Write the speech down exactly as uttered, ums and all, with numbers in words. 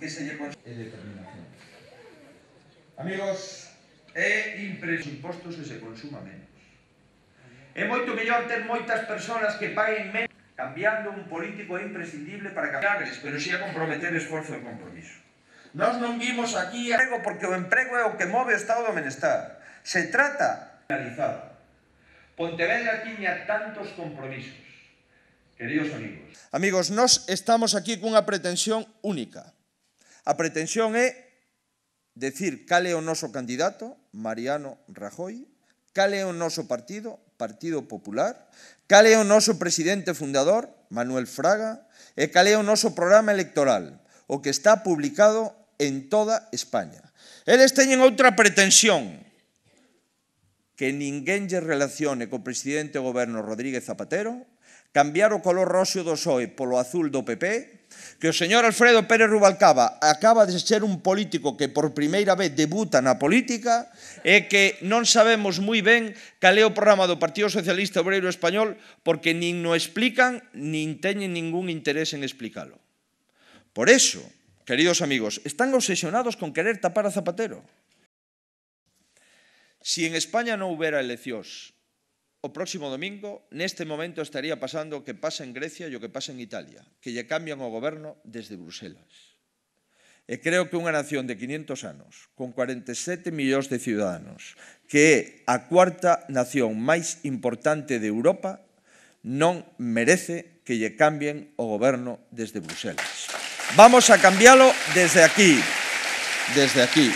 que se lle consigue determinación. Amigos, é impresionante impostos e se consuma menos. É moito mellor ter moitas persoas que paguen menos. Cambiando un político é imprescindible para cambiarles, pero si a comprometer esforzo e compromiso. Nós non vimos aquí emprego porque o emprego é o que move o estado do benestar. Se trata de realizar. Pontevedra tiña tantos compromisos. Queridos amigos. Amigos, nós estamos aquí cunha pretensión única. A pretensión é decir cal é o noso candidato, Mariano Rajoy, cal é o noso partido, Partido Popular, cal é o noso presidente fundador, Manuel Fraga, e cal é o noso programa electoral, o que está publicado en toda España. Eles teñen outra pretensión, que ninguén lle relacione co presidente do goberno Rodríguez Zapatero, cambiar o color roxo do P S O E polo azul do P P, que o señor Alfredo Pérez Rubalcaba acaba de ser un político que por primeira vez debuta na política e que non sabemos moi ben cal é o programa do Partido Socialista Obreiro Español porque nin no explican nin teñen ningún interés en explicalo. Por eso, queridos amigos, están obsesionados con querer tapar a Zapatero. Si en España non houbera eleccións o próximo domingo, neste momento estaría pasando o que pasa en Grecia e o que pasa en Italia, que lle cambian o goberno desde Bruselas. E creo que unha nación de quinhentos anos, con cuarenta e sete millóns de ciudadanos, que é a cuarta nación máis importante de Europa, non merece que lle cambien o goberno desde Bruselas. Vamos a cambialo desde aquí, desde aquí.